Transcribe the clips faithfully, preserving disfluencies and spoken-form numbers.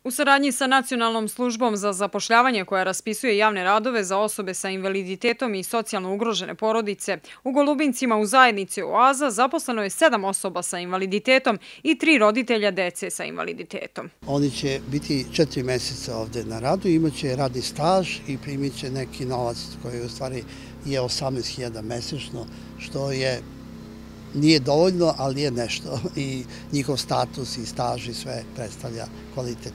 U saradnji sa Nacionalnom službom za zapošljavanje koja raspisuje javne radove za osobe sa invaliditetom i socijalno ugrožene porodice, u Golubincima u zajednici Oaza zaposleno je sedam osoba sa invaliditetom i tri roditelja dece sa invaliditetom. Oni će biti četiri meseca ovde na radu, imaće radni staž i primit će neki novac koji u stvari je osamnaest hiljada mesečno, što je nije dovoljno, ali je nešto i njihov status i staž i sve predstavlja kvalitet.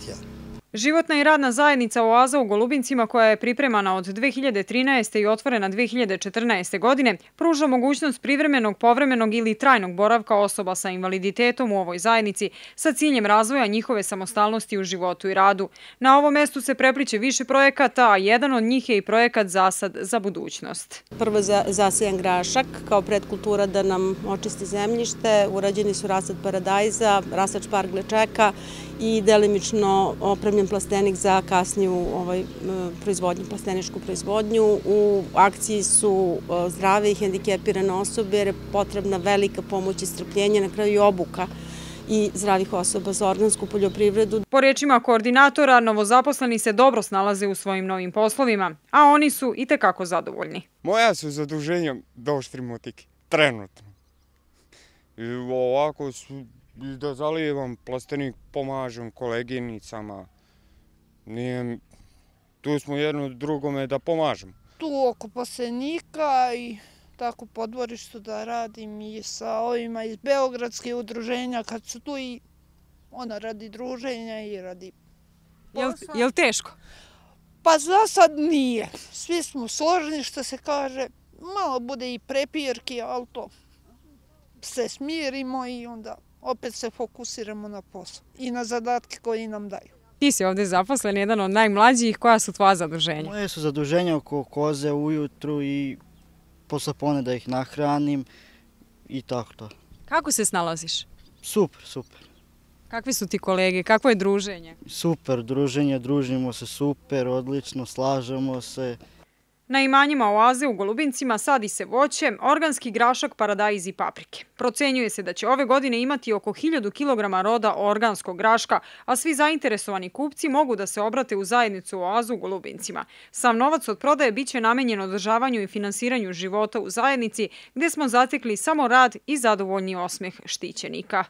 Životna i radna zajednica Oaza u Golubincima, koja je pripremana od dve hiljade trinaeste. i otvorena dve hiljade četrnaeste. godine, pruža mogućnost privremenog, povremenog ili trajnog boravka osoba sa invaliditetom u ovoj zajednici sa ciljem razvoja njihove samostalnosti u životu i radu. Na ovom mestu se prepliče više projekata, a jedan od njih je i projekat Zasad za budućnost. Prvo zasejan grašak kao predkultura da nam očisti zemljište, urađeni su rasad paradajza, rasač pargle čeka i delimično opremljen plastenik za kasniju proizvodnju, plasteničku proizvodnju. U akciji su zdrave i hendikepirane osobe jer je potrebna velika pomoć i strpljenje, na kraju i obuka i zdravih osoba za organsku poljoprivredu. Po rečima koordinatora, novozaposleni se dobro snalaze u svojim novim poslovima, a oni su i tekako zadovoljni. Moja su zaduženja došli motike, trenutno. Ovako su da zalijevam plastenik, pomažem koleginicama. Tu smo jedno drugome da pomažemo. Tu oko plastenika i tako po dvorištu da radim i sa ovima iz Beogradske udruženja kad su tu i ona radi druženja i radi posla. Je li teško? Pa za sad nije. Svi smo složni što se kaže. Malo bude i prepirki, ali to se smirimo i onda opet se fokusiramo na posao i na zadatke koji nam daju. Ti si ovde zaposlen, jedan od najmlađih. Koja su tvoja zaduženja? Moje su zaduženja oko koze ujutru i posle pone da ih nahranim i tako to. Kako se snalaziš? Super, super. Kakvi su ti kolege? Kakvo je druženje? Super druženje, družimo se super, odlično, slažemo se. Na imanjima Oaze u Golubincima sadi se voće, organski grašak, paradajz i paprike. Procenjuje se da će ove godine imati oko hiljadu kilograma roda organskog graška, a svi zainteresovani kupci mogu da se obrate u zajednicu Oazu u Golubincima. Sav novac od prodaje biće namenjen održavanju i finansiranju života u zajednici, gde smo zatekli samo rad i zadovoljni osmeh štićenika.